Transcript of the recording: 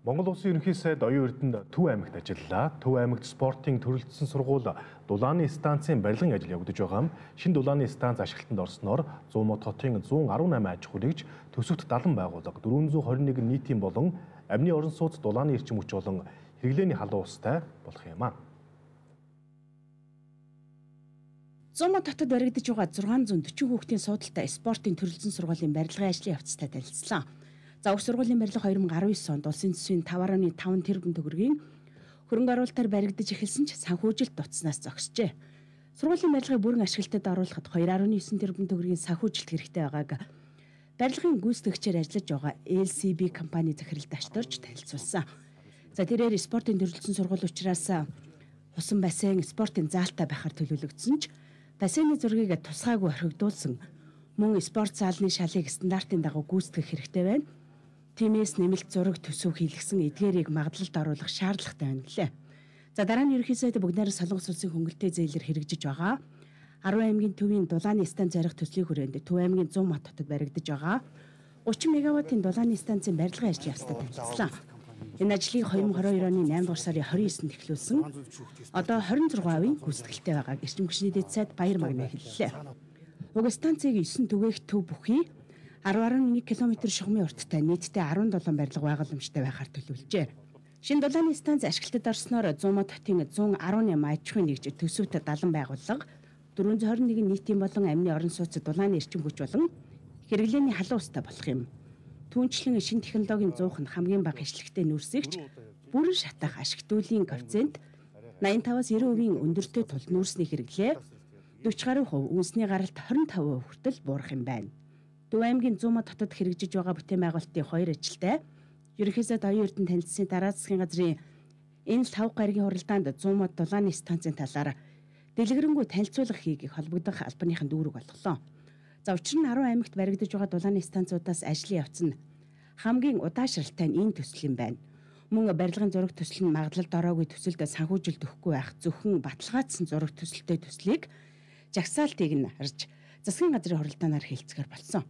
Монгол Улсын ерөнхий сайд оюун эрдэнэт Төв аймагт ажиллалаа. Төв аймагт спортын төрөлжсөн сургууль дулааны станцын барилгын ажил явагдаж байгаа юм. Шинэ дулааны станц ашиглалтанд орсноор 100 мод хотын 118 аж ахуй нэгж, төсөвт 70 байгууллага, 421 нийтийн болон амны орон сууц дулааны эрчим хүч болон хэрэглээний халуун устай болох юм аа. 100 мод хотод баригдаж байгаа 640 хүүхдийн суудалтай спортын төрөлжсөн сургуулийн барилгын ажлын явцтай танилцлаа. За уг сургуулийн барилга 2019 онд улсын төсвийн 5.5 тэрбум төгрөгийн хөрөнгө оруулалтаар баригдаж эхэлсэн ч санхүүжилт дуцснаас зогсжээ. Сургуулийн барилгыг бүрэн ашиглалтад оруулахад 2.9 тэрбум төгрөгийн санхүүжилт хэрэгтэй байгааг барилгын гүйцэтгэгчээр ажиллаж байгаа LCB компани захирал дашторж танилцуулсан. За тэрээр спортын төрөлжсөн сургууль учраас усан бассейн спортын заалтай байхаар төлөвлөгдсөн ч бассейны зургийг тусгайгүй орхигдуулсан мөн спорт заалны шалыг стандартын дагуу гүйцэтгэх хэрэгтэй байна. Тиймээс нэмэлт зураг төсөв хийлгсэн эдгээрийг магадлалд оруулах шаардлагатай байна гэлээ. За дараа нь ерөнхий сайд бүгдээр Солонгос улсын хөнгөлтэй зээлээр хэрэгжиж байгаа 10 аймгийн төвийн дулааны станц зарих төслийн хүрээнд Төв аймгийн 100 мод хотод баригдаж байгаа 30 мегаваттын дулааны станцын барилгын ажлын явцтай танилцлаа. Энэ ажлыг 2022 оны 8 дугаар сарын 29-нд эхлүүлсэн. Одоо 26% гүйцэтгэлтэй байгааг эрчим хүчний дэд сайд Баяр Магна хэллээ. Уг станцыг 9 түгээх төв бүхий 10.1 км шугамын урттай нийтдээ 17 барилга байгууламжтай байхаар төлөвлөжээ. Шинэ дулааны станц ашиглалтад орсноор 100 мод хотын 118 аж ахуй нэгж, төсөвт 70 байгууллага, 421 нийтийн болон амны орон сууц дулааны эрчим хүч болон хэрэглээний халуун устай болох юм. Түүнчлэн шинэ технологийн зуух нь хамгийн бага хяцлагтай нүүрсэгч бүрэн шатах ашигтуулын коэффициент 85-аас 90% өндөртэй тул нүүрсний хэрэглээ 40% үнсний гаралт 25% хүртэл буурах юм байна. Төв аймгийн 100 мод хотод хэрэгжиж байгаа бүтээн байгуулалтын 2 ажилтай ерөнхий сайд оюун эрдэнэт танилцсан дараа засгийн газрын энэ 5 гаригийн хуралдаанд 100 мод дулааны станцын талаар дэлгэрэнгүй танилцуулга хийгийг холбогдох албаныхан дүүрэг болголоо. За учир нь 10 аймагт баригдаж байгаа дулааны станцуудаас ажлын явц нь хамгийн удаашралтай нь энэ төсөл юм байна. Мөн барилгын зураг төсөл нь магадлалд ороогүй төсөлд санхүүжилт өгөхгүй байх зөвхөн баталгаажсан зураг төсөлтэй төслийг жагсаалтыг нь харж засгийн газрын хуралдаанаар хэлцгээр болсон.